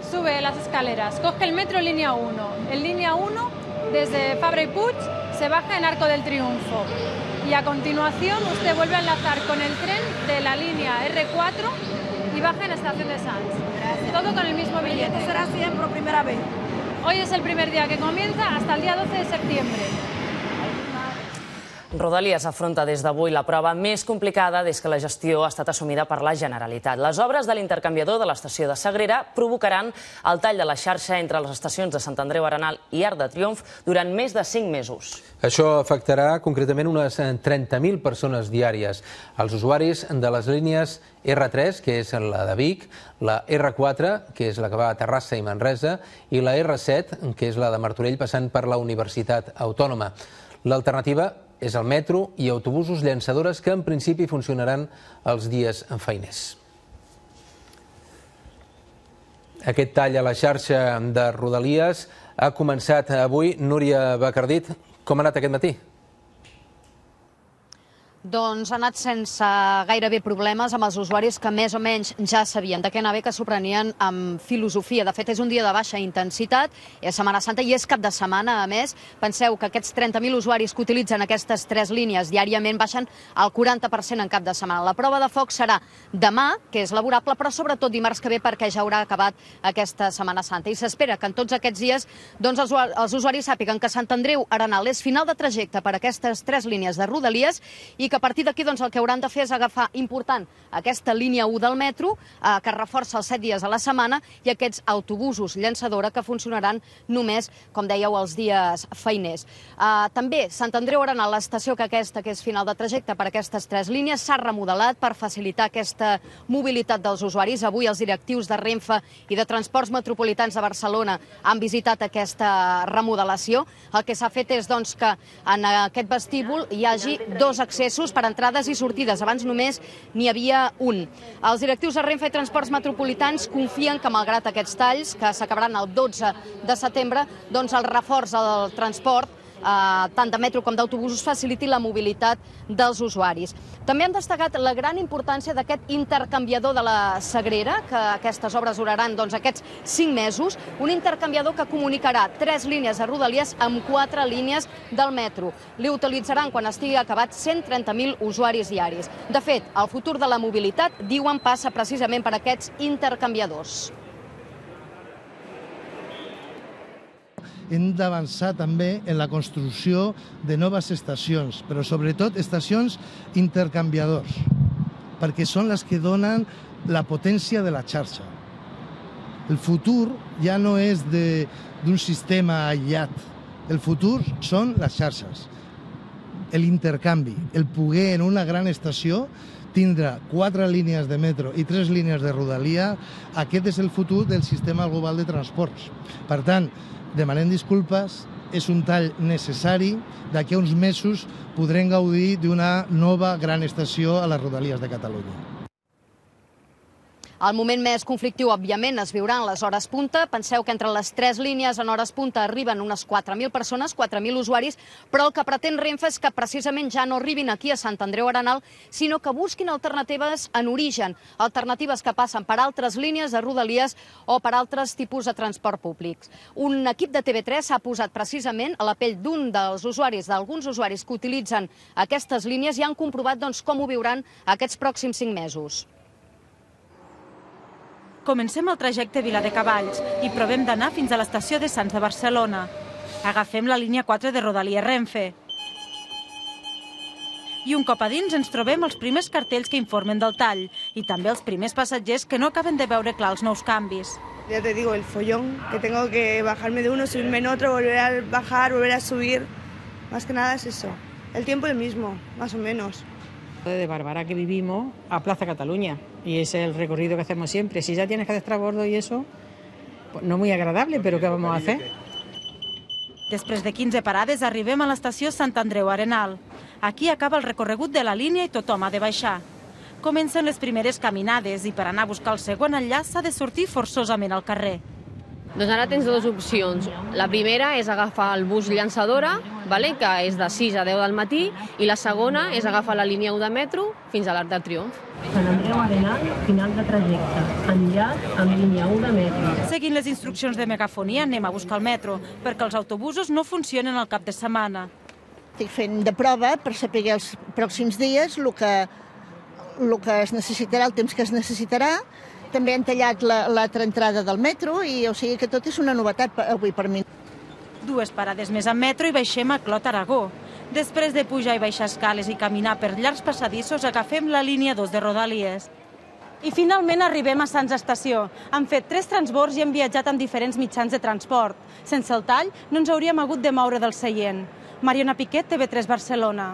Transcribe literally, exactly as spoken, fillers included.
sube las escaleras, coge el metro línea uno. En línea uno, desde Fabra y Puig, se baja en Arco del Triunfo. Y a continuación usted vuelve a enlazar con el tren de la línea erre cuatro y baja en Estación de Sants. Gracias. Todo con el mismo billete. ¿Esto será siempre por primera vez? Hoy es el primer día que comienza hasta el día doce de septiembre. Rodalies afronta des d'avui la prova més complicada des que la gestió ha estat assumida per la Generalitat. Les obres de l'intercanviador de l'estació de Sagrera provocaran el tall de la xarxa entre les estacions de Sant Andreu Arenal i Arc de Triomf durant més de cinc mesos. Això afectarà concretament unes trenta mil persones diàries. Els usuaris de les línies erre tres, que és la de Vic, la erre quatre, que és la que va a Terrassa i Manresa, i la erre set, que és la de Martorell, passant per la Universitat Autònoma. L'alternativa és el metro i autobusos llançadores que en principi funcionaran els dies feiners. Aquest tall a la xarxa de Rodalies ha començat avui. Núria Bacardit, com ha anat aquest matí? Doncs ha anat sense gairebé problemes amb els usuaris que més o menys ja sabien de què anava, que s'ho prenien amb filosofia. De fet, és un dia de baixa intensitat, és Setmana Santa i és cap de setmana, a més. Penseu que aquests trenta mil usuaris que utilitzen aquestes tres línies diàriament baixen el quaranta per cent en cap de setmana. La prova de foc serà demà, que és laborable, però sobretot dimarts que ve, perquè ja haurà acabat aquesta Setmana Santa. I s'espera que en tots aquests dies doncs, els usuaris sàpiguen que Sant Andreu Arenal és final de trajecte per aquestes tres línies de Rodalies i que a partir d'aquí doncs, el que hauran de fer és agafar important aquesta línia u del metro, eh, que reforça els set dies a la setmana, i aquests autobusos llançadora que funcionaran només, com dèieu, els dies feiners. Eh, també Sant Andreu Arenal, l'estació que aquesta, que és final de trajecte per aquestes tres línies, s'ha remodelat per facilitar aquesta mobilitat dels usuaris. Avui els directius de Renfe i de Transports Metropolitans de Barcelona han visitat aquesta remodelació. El que s'ha fet és doncs, que en aquest vestíbul hi hagi dos accessos per entrades i sortides. Abans només n'hi havia un. Els directius de Renfe i Transports Metropolitans confien que, malgrat aquests talls, que s'acabaran el dotze de setembre, doncs el reforç del transport, eh, tant de metro com d'autobusos, faciliti la mobilitat dels usuaris. També han destacat la gran importància d'aquest intercanviador de la Sagrera, que aquestes obres duraran doncs, aquests cinc mesos, un intercanviador que comunicarà tres línies de Rodalies amb quatre línies del metro. Li utilitzaran, quan estigui acabat, cent trenta mil usuaris diaris. De fet, el futur de la mobilitat, diuen, passa precisament per aquests intercanviadors. Hem d'avançar també en la construcció de noves estacions, però sobretot estacions intercanviadors, perquè són les que donen la potència de la xarxa. El futur ja no és d'un sistema aïllat, el futur són les xarxes, l'intercanvi, el poder en una gran estació tindre quatre línies de metro i tres línies de rodalia. Aquest és el futur del sistema global de transports. Per tant, demanem disculpes, és un tall necessari. D'aquí a uns mesos podrem gaudir d'una nova gran estació a les Rodalies de Catalunya. El moment més conflictiu, òbviament, es viurà en les hores punta. Penseu que entre les tres línies en hores punta arriben unes quatre mil persones, quatre mil usuaris, però el que pretén Renfe és que precisament ja no arribin aquí a Sant Andreu Arenal, sinó que busquin alternatives en origen, alternatives que passen per altres línies de Rodalies o per altres tipus de transport públics. Un equip de T V tres s'ha posat precisament a la pell d'un dels usuaris, d'alguns usuaris que utilitzen aquestes línies i han comprovat doncs, com ho viuran aquests pròxims cinc mesos. Comencem el trajecte Viladecavalls i provem d'anar fins a l'estació de Sants de Barcelona. Agafem la línia quatre de Rodalies Renfe. I un cop a dins ens trobem els primers cartells que informen del tall i també els primers passatgers que no acaben de veure clar els nous canvis. Ya te digo, el follón, que tengo que bajarme de uno, subirme en otro, volver a bajar, volver a subir. Más que nada es eso. El tiempo el mismo, más o menos. De Bárbara que vivimos a Plaza Cataluña y ese es el recorrido que hacemos siempre. Si ya tienes que hacer transbordo y eso, pues no muy agradable, pero ¿qué vamos a hacer? Després de quinze parades arribem a l'estació Sant Andreu Arenal. Aquí acaba el recorregut de la línia i tothom ha de baixar. Comencen les primeres caminades i per anar a buscar el segon enllaç s'ha de sortir forçosament al carrer. Doncs ara tens dues opcions. La primera és agafar el bus llançadora, vale? Que és de sis a deu del matí, i la segona és agafar la línia u de metro fins a l'Arc de Triomf. Sant Andreu Arenal, final de trajecte, enllaç amb línia u de metro. Seguint les instruccions de megafonia anem a buscar el metro, perquè els autobusos no funcionen al cap de setmana. Estic fent de prova per saber els pròxims dies el que, el que es necessitarà, el temps que es necessitarà. També han tallat l'altra entrada del metro i o sigui que tot és una novetat avui per mi. Dues parades més amb metro i baixem a Clot, Aragó. Després de pujar i baixar escales i caminar per llargs passadissos, agafem la línia dos de Rodalies. I finalment arribem a Sants Estació. Han fet tres transbords i hem viatjat amb diferents mitjans de transport. Sense el tall no ens hauríem hagut de moure del seient. Mariona Piquet, T V tres Barcelona.